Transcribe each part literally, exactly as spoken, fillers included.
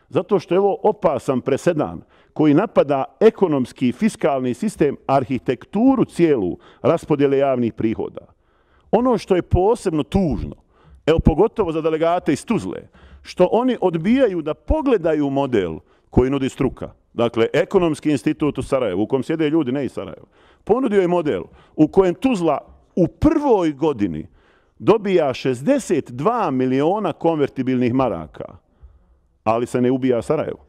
Zato što je ovo opasan presedan koji napada ekonomski, fiskalni sistem, arhitekturu cijelu raspodjele javnih prihoda. Ono što je posebno tužno, evo pogotovo za delegate iz Tuzle, što oni odbijaju da pogledaju model koji nudi struka. Dakle, Ekonomski institut u Sarajevu, u kojem sjede ljudi ne iz Sarajeva, ponudio je model u kojem Tuzla u prvoj godini dobija šezdeset dva miliona konvertibilnih maraka, ali se ne ubija Sarajevo.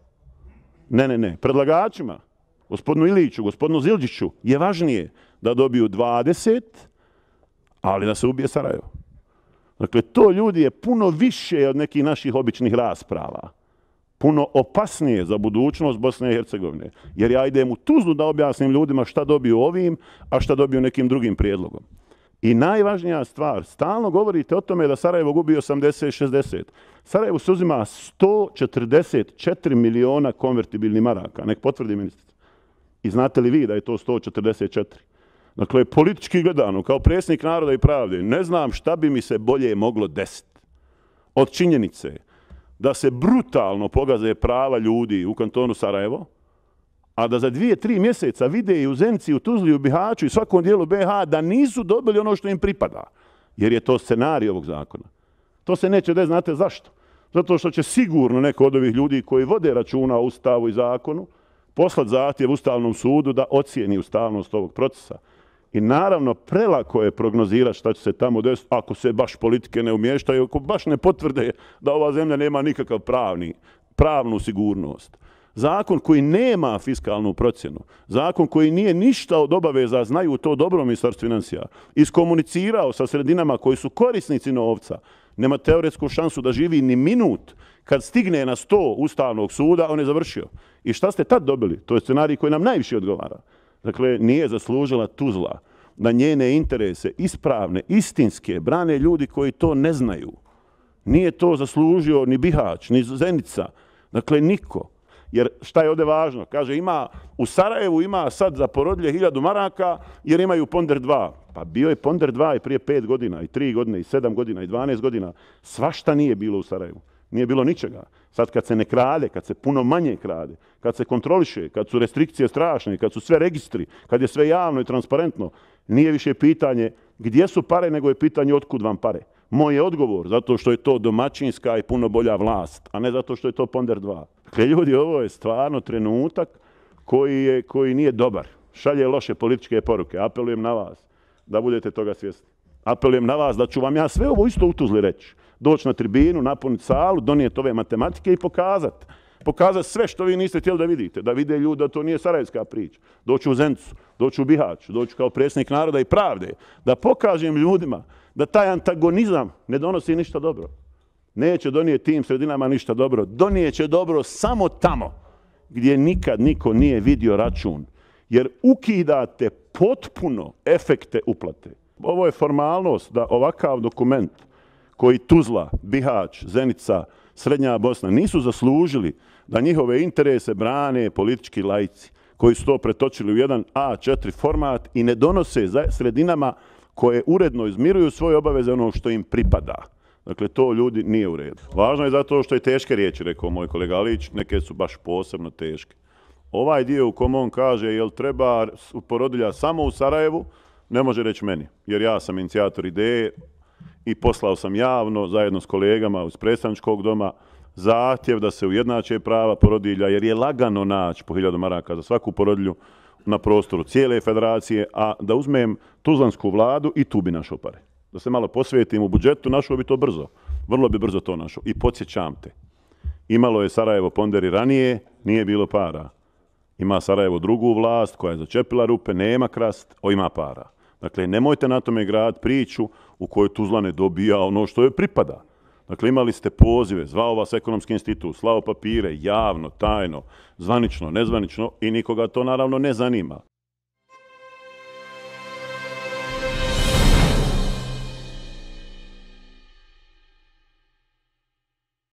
Ne, ne, ne. Predlagačima, gospodinu Iliću, gospodinu Zildžiću, je važnije da dobiju dvadeset, ali da se ubije Sarajevo. Dakle, to ljudi je puno više od nekih naših običnih rasprava. Puno opasnije za budućnost Bosne i Hercegovine. Jer ja idem u Tuzlu da objasnim ljudima šta dobiju ovim, a šta dobiju nekim drugim prijedlogom. I najvažnija stvar, stalno govorite o tome da Sarajevo gubi osamdeset šezdeset. Sarajevo se uzima sto četrdeset četiri miliona konvertibilnih maraka. Nek potvrdi ministrica. I znate li vi da je to sto četrdeset četiri? Dakle, politički gledano, kao predsjednik Naroda i pravde, ne znam šta bi mi se bolje moglo desiti od činjenice da se brutalno pogaze prava ljudi u kantonu Sarajevo, a da za dvije, tri mjeseca vide i u Zenici, u Tuzli, u Bihaću i svakom dijelu B iH da nisu dobili ono što im pripada. Jer je to scenarij ovog zakona. To se neće desiti, znate zašto? Zato što će sigurno neko od ovih ljudi koji vode računa o Ustavu i zakonu poslati zahtjev Ustavnom sudu da ocijeni ustavnost ovog procesa. I naravno, prelako je prognozirati šta će se tamo desiti ako se baš politike ne umještaju, ako baš ne potvrde da ova zemlja nema nikakav pravni, pravnu sigurnost. Zakon koji nema fiskalnu procjenu, zakon koji nije ništa od obaveza, znaju to dobro Ministarstvo financija, iskomunicirao sa sredinama koji su korisnici novca, nema teoretsku šansu da živi ni minut. Kad stigne na sto Ustavnog suda, on je završio. I šta ste tad dobili? To je scenarij koji nam najviše odgovara. Dakle, nije zaslužila Tuzla da njene interese ispravne, istinske, brane ljudi koji to ne znaju. Nije to zaslužio ni Bihać, ni Zenica. Dakle, niko. Jer šta je ovdje važno? Kaže, ima, u Sarajevu ima sad za porodilje hiljadu maraka jer imaju ponder dva. Pa bio je ponder dva i prije pet godina, i tri godine, i sedam godina, i dvanaest godina. Svašta nije bilo u Sarajevu. Nije bilo ničega. Sad kad se ne krade, kad se puno manje krade, kad se kontroliše, kad su restrikcije strašne, kad su sve registri, kad je sve javno i transparentno, nije više pitanje gdje su pare, nego je pitanje otkud vam pare. Moj je odgovor, zato što je to domaćinska i puno bolja vlast, a ne zato što je to ponder dva. Dakle, ljudi, ovo je stvarno trenutak koji, je, koji nije dobar. Šalje loše političke poruke. Apelujem na vas da budete toga svjesni. Apelujem na vas da ću vam ja sve ovo isto u Tuzli reći. Doći na tribinu, napuniti salu, donijeti ove matematike i pokazati. Pokazati sve što vi niste htjeli da vidite. Da vide ljudi da to nije sarajevska priča. Doći u Zenicu, doći u Bihać, doći kao predsjednik Naroda i pravde. Da pokažem ljudima da taj antagonizam ne donosi ništa dobro. Neće donijeti tim sredinama ništa dobro. Donijeće dobro samo tamo gdje nikad niko nije vidio račun. Jer ukidate potpuno efekte uplate. Ovo je formalnost da ovakav dokument koji Tuzla, Bihać, Zenica, Srednja Bosna nisu zaslužili da njihove interese brane politički laici koji su to pretočili u jedan A četiri format i ne donose za sredinama koje uredno izmiruju svoje obaveze ono što im pripada. Dakle, to ljudi nije u redu. Važno je zato što je teške riječi, rekao moj kolega Alić, neke su baš posebno teške. Ovaj dio u kom on kaže jel treba porodilja samo u Sarajevu, ne može reći meni, jer ja sam inicijator ideje i poslao sam javno zajedno s kolegama iz predstavničkog doma zahtjev da se ujednače prava porodilja, jer je lagano naći po hiljadu maraka za svaku porodilju na prostoru cijele federacije, a da uzmem tuzlansku vladu i tu bi našao pare. Da se malo posvetim u budžetu, našao bi to brzo. Vrlo bi brzo to našao. I podsjećam te, imalo je Sarajevo ponderi ranije, nije bilo para. Ima Sarajevo drugu vlast koja je začepila rupe, nema krast, o ima para. Dakle, nemojte na tome grad priču u kojoj Tuzla ne dobija ono što joj pripada. Dakle, imali ste pozive, zvao vas Ekonomski institut, slao papire, javno, tajno, zvanično, nezvanično i nikoga to naravno ne zanima.